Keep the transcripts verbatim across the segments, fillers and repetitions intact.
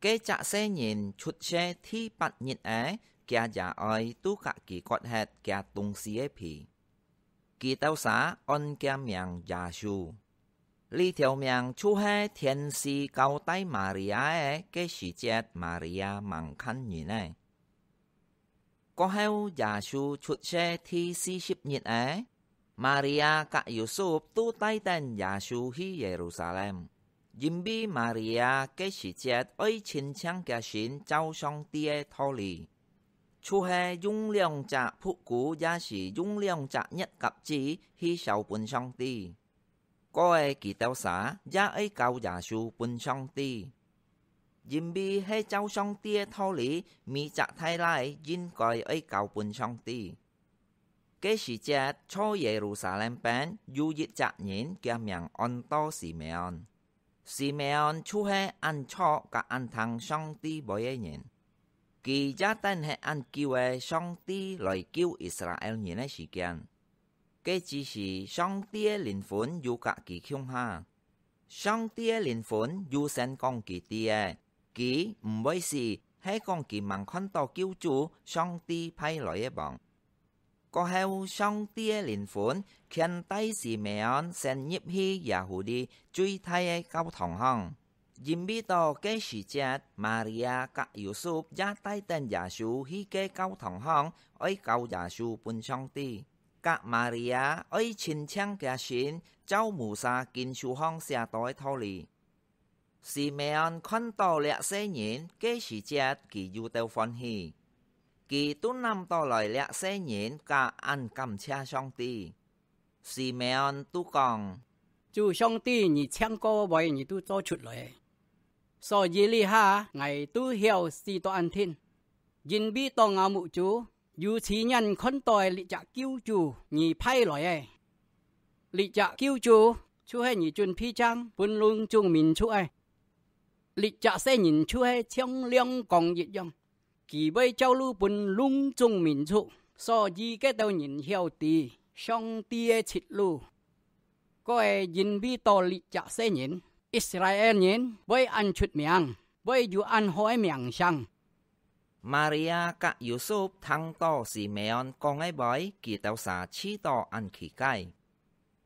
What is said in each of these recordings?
該隻細人出世第八日仔，厥爺哀都甲佢割忒厥當時个皮。佢兜儕安厥名耶穌。這條名就係天使交代Maria个，該時節Maria吂看人仔。 過後，耶穌出世第四十日仔，Maria甲Yusuf都帶等耶穌去Yerusalem，因為Maria該時節愛親像厥心照上帝个道理，就係用兩隻牝牛也係用兩隻熱鴿子去燒分上帝。 過仔佢兜儕也愛交耶穌分上帝，因為係照上帝个道理，每隻大倈應該愛交分上帝。該時節在Yerusalem邊有一隻人，厥名安到Simeon。Simeon就係恁著甲恁聽上帝話个人。佢也等忒恁久仔上帝來救Israel人个時間。 該之時，上帝个靈魂有甲佢共下。上帝个靈魂有先講佢知仔，佢毋會死，係講佢吂看到救主，上帝派來个王。過後，上帝个靈魂牽帶Simeon先入去Yahudi最大个教堂項，因為到該時節，Maria甲Yusuf也帶等耶穌去該教堂項，愛交耶穌分上帝。 甲Maria愛親像厥心，照Musa經書項寫到个道理。Simeon看到這細人，該時節佢有兜歡喜。佢都揇到來這細人甲恁感謝上帝。Simeon都講：「主上帝，你請過个話，你都做出來。所以這下𠊎都曉死到恁定，因為到吾目珠 有親眼看到个這隻救主你派來个。這隻救主就係你準備正分攏總民族个。這隻細人就係像亮光一樣，佢會照路分攏總民族，所以該兜人曉知上帝个出路。」 過仔因為到這隻細人，Israel人會恁出名，會有恁好个名聲。Maria甲Yusuf聽到Simeon講个話，佢兜儕試到恁奇怪。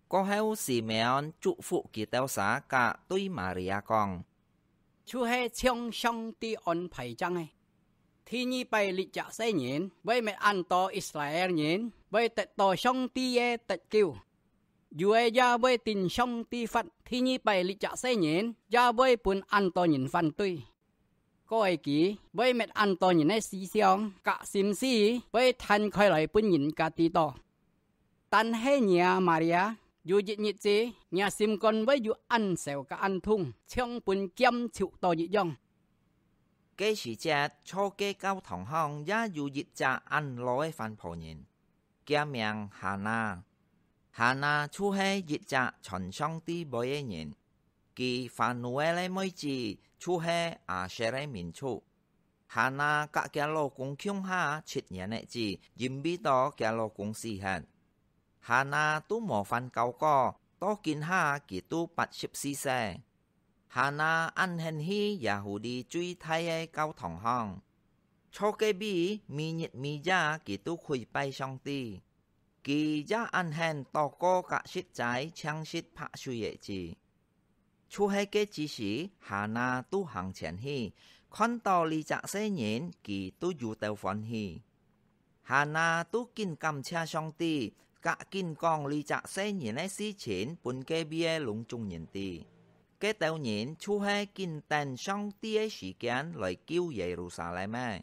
過後Simeon祝福佢兜儕甲對Maria講：「就係像上帝安排正个。第二擺這隻細人會搣恁多Israel人會得到上帝个得救。 有个也會頂上帝發，第二擺這隻細人也會分恁多人反對。過仔佢會搣恁多人个思想甲心思會攤開來分人家知到。但係若Maria，有一日子，若心肝會有恁愁甲恁痛，像分劍抽到一樣。」該時節，在該教堂項也有一隻恁老个番婆人， 厥名Hana。Hana就係一隻傳上帝話个人。佢Fanuel个妹子就係Asher个民族。Hana甲厥老公共下七年仔子，因為到厥老公死忒。Hana都無還交過，到今下佢都八十四歲。 Hana恁興去Yahudi最大个教堂項，在該位每日每夜佢都跪拜上帝。佢也恁興禱告甲食齋淨食白水仔子。就係該之時，Hana都行前去，看到這隻細人，佢都有兜歡喜。 Hana都緊感謝上帝，甲緊講這隻細人个事情分該位个攏總人知。該兜人就係緊等上帝个時間來救耶路撒冷个。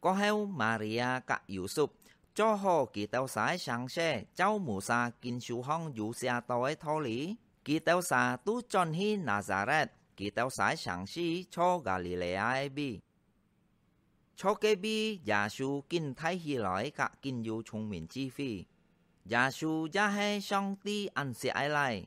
過後，Maria甲Yusuf做好佢兜儕个成事，照Musa經書項有寫到个道理，佢兜儕都轉去拿撒勒，佢兜儕个城市在加里肋亞个位。 在該位，耶穌緊大起來甲緊有聰明智慧。耶穌也係上帝恁惜个倈，